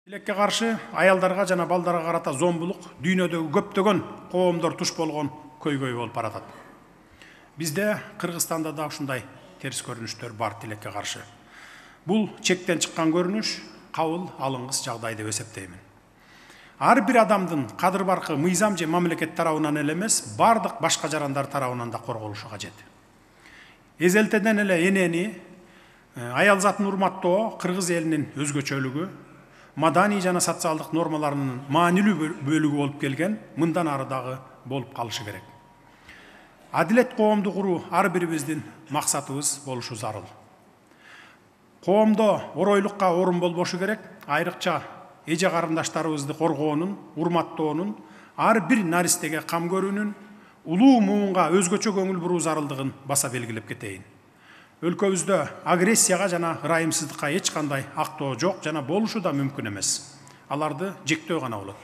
Тилекке каршы аялдарга жана балдарга карата зомбулук дүйнөдөгү көптөгөн коомдор туш болгон көйгөй болуп баратат. Бизде Кыргызстанда да ушундай терс көрүнүштөр бар тилекке каршы. Бул чектен чыккан көрүнүш кабыл алынгыс жагдай деп эсептеймин. Ар бир адамдын кадыр баркы мыйзам же мамлекет тарабынан эле эмес, бардык башка жарандар тарабынан да корголушу кажет. Эзелтеден эле энени, аял затын урматтоо кыргыз элинин өзгөчөлүгү, маданий жана социалдык нормаларынын маанилүү бөлүгү болуп келген, мындан ары дагы болуп калышы керек. Адилет коомду куруу ар бирибиздин максатыбыз болушу зарыл. Коомдо оройлукка орун болбошу керек, айрыкча эже карындаштарыбызды коргоонун, урматтоонун, ар бир наристеге кам көрүүнүн, улуу муунга өзгөчө көңүл буруу зарылдыгын баса белгилеп кетейин. Өлкөбүздө агрессияга жана ырайымсыздыкка эч кандай актоо жок жана болушу да мүмкүн эмес. Аларды жектөө гана болот.